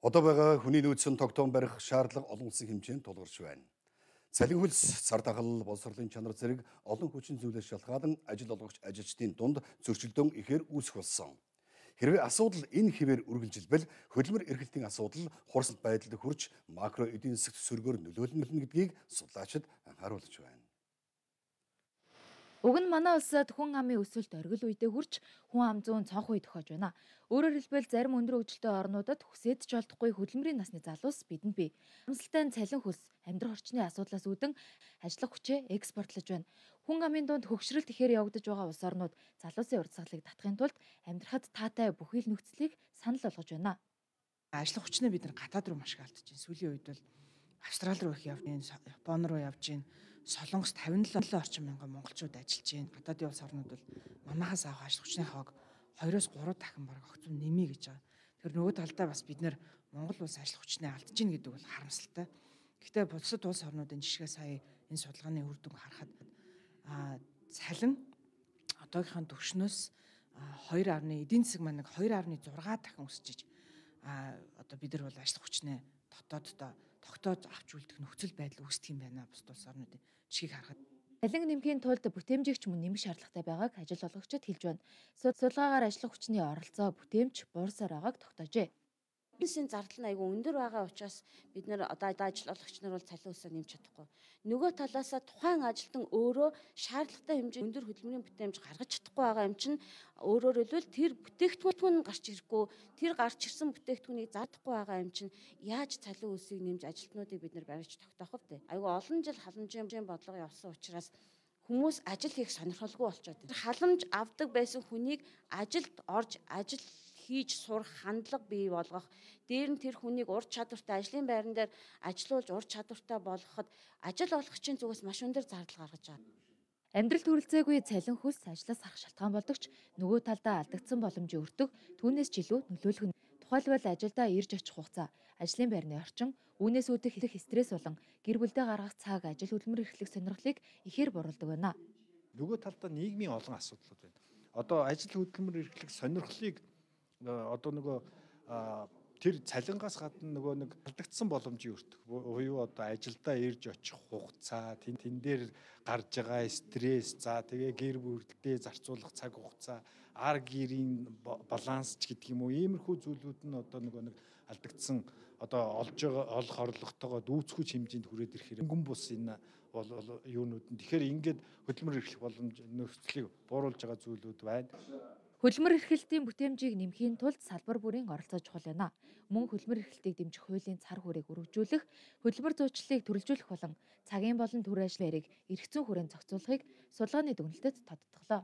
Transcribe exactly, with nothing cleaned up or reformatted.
Одоо байгаа хүний нөөцийн тогтоом барих шаардлага олон улсын хэмжээнд тулгарч байна. Цалин хөлс, цар тахал, боловсролын чанар зэрэг олон хүчин зүйлээс шалтгаалan ажил олгогч ажилчдын дунд зөрчилдөөн ихээр үүсэх болсон. Хэрвээ асуудал энэ хэвээр үргэлжилбэл хөдөлмөр эрхлэлтийн асуудал хурцлт байдалд хүрч макро эдийн засгт сөргөөр нөлөөлнө гэдгийг судлаачид анхааруулж байна. Уг нь манай улсад хүн амын өсөлт оргил үедээ хүрч хүн ам зүүн цонх үе тохиож байна. Өөрөөр хэлбэл зарим өндөр хөгжилтэй орнуудад хүсэж ч олдохгүй хөдөлмөрийн насны залуус бидэнд бий. Амсалтай цалин хөлс, амьдрах орчны асуудлаас үүдэн ажиллах хүчээ экспортлож байна. Хүн амын дунд хөгшрөлт ихээр явагдаж байгаа улс орнууд залуусын урдсгалыг татахын тулд амьдрахад таатай бүхий л нөхцөлийг санал болгож байна. Ажиллах хүчнээ бид нар гадаад руу маш их алдаж байна. Сүүлийн үед бол Австрали руу их явж байна, Япон руу явж байна. Солонгос тавина л орчим мянган монголчууд ажиллаж байна. Гадаадын улс орнууд бол манахаас авах ажиллах хүчний хаваг хоёроос гурав дахин бараг огцом нэмье гэж байгаа. Тэгэхээр нөгөө талдаа бас бид нар Монгол улс ажиллах хүчнээ алдаж байна гэдэг бол харамсалтай. Гэхдээ бусад улс орнуудын жишгээ сая энэ судалгааны үр дүн харахад а цалин одоогийнхын төвшнөөс хоёр гаруй эдийн засаг маань хоёр гаруй зураг дахин өсөж а одоо бид нар бол ажиллах хүчнээ дотооддоо тогтоож авч үлдэх нөхцөл байдал үүсдэг юм байна бусад улс орнуудын жишгийг харахад. Цалин нэмхийн тулд бүтээмжигч мөн нэмэх шаардлагатай байгааг ажил олгогчид хэлж байна. Судалгаагаар ажиллах хүчний оролцоо бүтээмж буурсаар байгааг тогтоожээ. Бизнесийн зардал нь айгүй өндөр байгаа учраас бид нэр одоо ажил олгогч нар бол цалин өсөө нэмж чадахгүй. Нөгөө талаасаа тухайн ажилтан өөрөө шаардлагатай хэмжээнд өндөр хөдөлмөрийн бүтээмж гаргаж чадахгүй байгаа юм чинь өөрөөр хэлбэл тэр бүтээгдэхүүн гарч ирэхгүй, тэр гарч ирсэн бүтээгдэхүүнийг заадахгүй байгаа юм чинь яаж цалин өсийг нэмж ажилтнуудыг бид нэр барьж тогтоох вэ? Айгүй олон жил халамжийн бодлого явсан учраас хүмүүс ажил хийх сонирхолгүй болчиход байна. Халамж авдаг байсан хүнийг ажилд орж ажил хийж сурах хандлага бий болгох, дээр нь тэр хүнийг ур чадвартай ажлын байран дээр ажилуулж ур чадвартай болгоход ажил олгогчийн зүгээс маш өндөр зардал гаргаж байгаа. Амьдралд хүрэлцээгүй цалин хөлс ажлаас харах шалтгаан болдог ч нөгөө талдаа алдагдсан боломжийн өртөг түүнээс ч илүү нөлөөлөх нь. Тухайлбал ажилдаа ирж очих хугацаа, ажлын байрны орчин, үүнээс үүдэх их стресс болон гэр бүлдээ гаргах цаг ажил хөдөлмөр эрхлэх сонирхлыг ихээр боруулдаг байна. Нөгөө талдаа нийгмийн олон асуудлууд байна. Одоо ажил хөдөлмөр эрхлэх сонирхлыг одоо нөгөө тэр цалингаас гадна нөгөө нэг алдагдсан боломжийн өртөх буюу одоо ажилдаа ирж очих хугацаа, тэн тэн дээр гарч байгаа стресс, за тэгээ гэр бүлдээ зарцуулах цаг хугацаа, ар гэрийн баланс ч гэдэг юм уу, иймэрхүү зүйлүүд нь одоо нөгөө нэг алдагдсан одоо олж байгаа олох орлоготойгоо дүүцхүүч хэмжээнд хүрээд ирэхээр өнгөн бус энэ бол юунууд нь тэгэхээр ингээд хөдөлмөр эрхлэх боломж нөхцөлийг бууруулж байгаа зүйлүүд байна. Хөдөлмөр эрхлэлтийн бүтээмжийг нэмхийн тулд салбар бүрийн оролцоо чухал байна. Мөн хөдөлмөр эрхлэлтийг дэмжих хуулийн цар хүрээг өргөжүүлэх, хөдөлмөр зуучлалыг төрөлжүүлэх болон цагийн болон төр ажлын хэрэг эрх зүйн хүрээнд зохицуулахыг судалгааны дүгнэлтэд тодтоглоо.